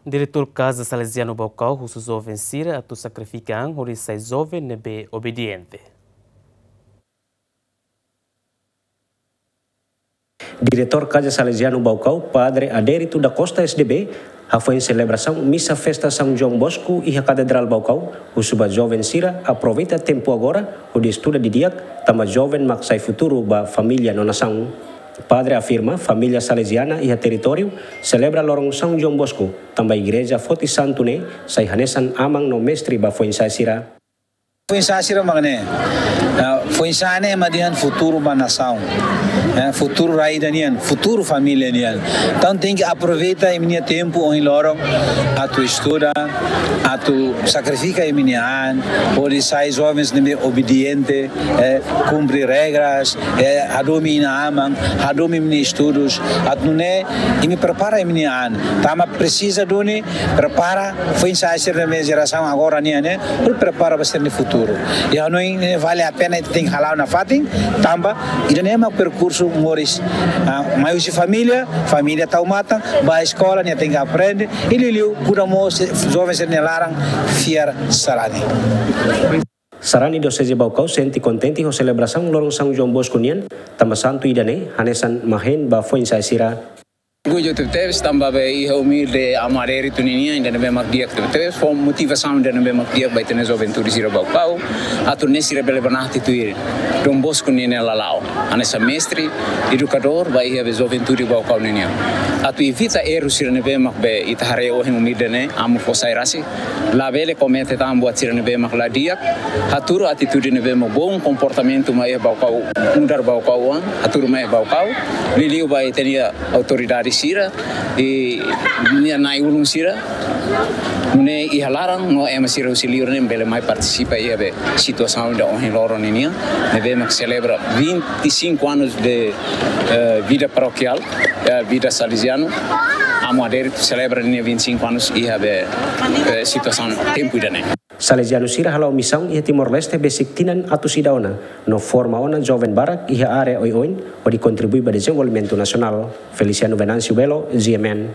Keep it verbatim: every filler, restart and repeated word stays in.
Diretór Kaza Salesianu Baucau husu joven sira atu sakrifika an hodi sai joven ne'ebé obediente. Diretór Kaza Salesianu Baucau, Padre Adérito da Costa S D B, hafoin selebrasaun misa festa São João Bosco iha Katedrál Baucau, husu ba joven sira aproveita tempu agora hodi estuda didi'ak, tanba joven mak sai futuru ba família no nasaun. Padre afirma, família Salesiana iha territóriu selebra loron São João Bosco, tanba igreja foti santu ne'e sai hanesan aman no mestre ba foin-sa'e sira. Foin-sa'e sira mak ne'e. Ah, foin-sa'e ne'e mak dehan futuru ba nasaun. Eh, futuru rai ida nian, futuru família nian. Entaun tenke aproveita imi-nia tempu ohin loron atu estuda, atu sakrifika imi-nia an, hodi sai jovens ne'ebé obediente, eh, kumpre regras, eh, hadomi inan-aman, hadomi imi-nia estudus, atu nune'e imi prepara imi-nia an. Tanba presiza duni prepara foin-sa'e sira ne'ebé jerasaun agora nian ne'e, hodi prepara ba sira-nia futuru. I hanoin ne'e vale a pena, ita tenke hala'o nafatin, tanba ida-ne'e mak perkursu moris. Ah, mai husi família, família tau matan, ba eskola, nia tenke aprende, i liuliu kuda mós joven sira-nia laran fiar sarani. Sarani Dioseze Baucau sente kontente ho selebrasaun loron São João Bosco nian, tanba santu ida-ne'e hanesan mahén ba foin-sa'e sira. Orgullu tebetebes tanba be iha umilde Amu Adérito ninian, ida ne'ebé mak di'ak tebetebes, fó motivasaun ida ne'ebé mak di'ak ba ita-nia juventude sira Baucau, atu nune'e sira bele banati tuir Dom Bosco ninia lala'ok hanesan mestre, edukadór ba iha be juventude Baucau ninian. Atu evita erru sira ne'ebé mak be ita haree ohin umilde ne'e, Amu fó sai rasik, labele komete tan buat sira ne'ebé mak la di'ak, hatuur atitude ne'ebé mak bom, komportamentu mai iha Baucau, mudar Baucau oan, hatuur mai iha Baucau, liuliu ba ita-nia autoridade sira, i nia na'i-ulun sira, nune'e iha laran no ema sira husi liur ne'e bele mai partisipa iha be situasaun ida ohin loron ninian, ne'ebé mak selebra vinte e cinco anos de, eh, vida paroquial, eh, vida Salesiano, Amu Adérito selebra ninia vinte e cinco anos iha be, eh, situasaun tempu ida-ne'e. Salesianu sira hala'o misaun iha Timor-Leste besik tinan atus ida ona, no forma ona joven barak iha área oioin, hodi kontribui ba dezenvolvimentu nasionál. Feliciano Venâncio Belo, G M N.